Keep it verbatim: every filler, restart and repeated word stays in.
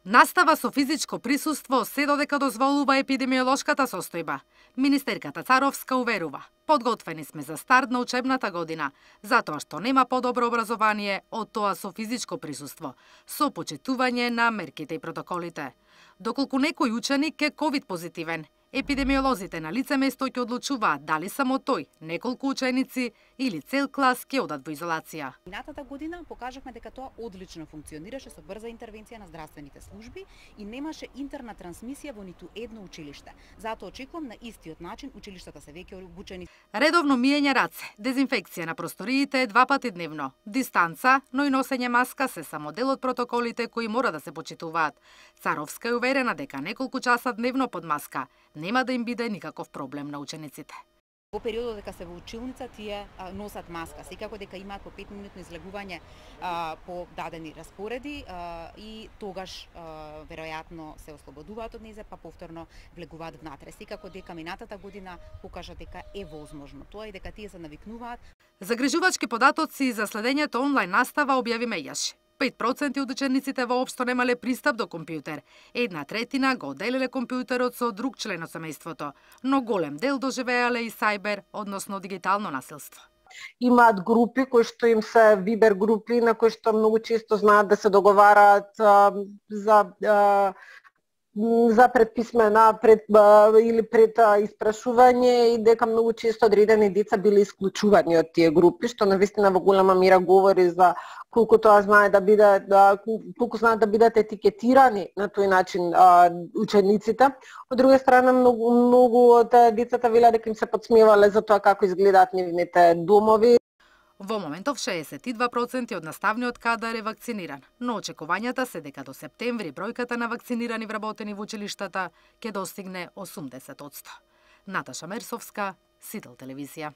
Настава со физичко присуство се додека дозволува епидемиолошката состојба. Министерката Царовска уверува, подготвени сме за старт на учебната година, затоа што нема подобро образование од тоа со физичко присуство, со почитување на мерките и протоколите. Доколку некој ученик е ковид позитивен, епидемиолозите на лице место ќе одлучуваат дали само тој, неколку ученици или цел клас ќе одат во изолација. Минатата година покажавме дека тоа одлично функционираше со брза интервенција на здравствените служби и немаше интерна трансмисија во ниту едно училиште. Затоа очекувам на истиот начин училиштата се веќе обучени. Редовно миење раце, дезинфекција на просториите два пати дневно, дистанца, но и носење маска се само дел од протоколите кои мора да се почитуваат. Царовска е уверена дека неколку часа дневно под маска нема да им биде никаков проблем на учениците. Во периодот дека се во училница, тие а, носат маска, секако дека имаат по пет минутно излегување а, по дадени распореди а, и тогаш а, веројатно се ослободуваат од незе, па повторно влегуваат внатре. Секако дека минатата година покажа дека е возможно тоа и дека тие се навикнуваат. Загрижувачки податоци за следењето онлайн настава објави Меѓаш. пет проценти од учениците воопшто немале пристап до компјутер. Една третина го делеле компјутерот со друг член од семејството, но голем дел доживеале и сајбер, односно дигитално насилство. Имаат групи кои што им се вибер групи на кои што многу често знаат да се договараат а, за а, за предписмена пред, а, или пред а, испрашување и дека многу често одредени деца биле исклучувани од тие групи, што навистина во голема мера говори за колку тоа знае да биде да, колку знаат да бидат етикетирани на тој начин а, учениците. Од друга страна многу многу од децата велат дека им се подсмевале за тоа како изгледаат нивните домови. Во моментов шеесет и два проценти од наставниот кадар е вакциниран, но очекувањата се дека до септември бројката на вакцинирани вработени во училиштата ќе достигне осумдесет одсто. Наташа Мерсовска, Сител телевизија.